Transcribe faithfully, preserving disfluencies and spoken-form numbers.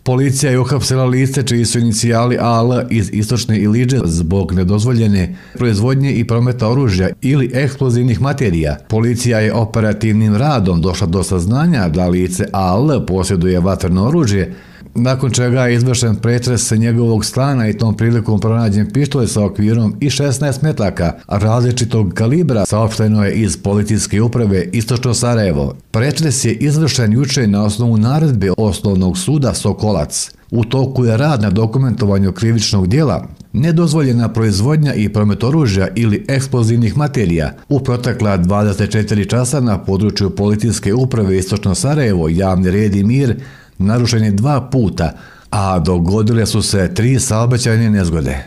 Policija je uhapsila lice čiji su inicijali A L iz Istočne Ilidže zbog nedozvoljene proizvodnje i prometa oružja ili eksplozivnih materija. Policija je operativnim radom došla do saznanja da lice A L posjeduje vatreno oružje, nakon čega je izvršen pretres njegovog stana i tom prilikom pronađen pištolj sa okvirom i šesnaest metaka različitog kalibra, saopšteno je iz policijske uprave Istočno Sarajevo. Pretres je izvršen juče na osnovu naredbe Osnovnog suda Sokolac. U toku je rad na dokumentovanju krivičnog djela nedozvoljena proizvodnja i promet oružja ili eksplozivnih materija. U protekla dvadeset četiri časa na području policijske uprave Istočno Sarajevo javni red i mir narušen je dva puta, a dogodile su se tri saobraćajne nezgode.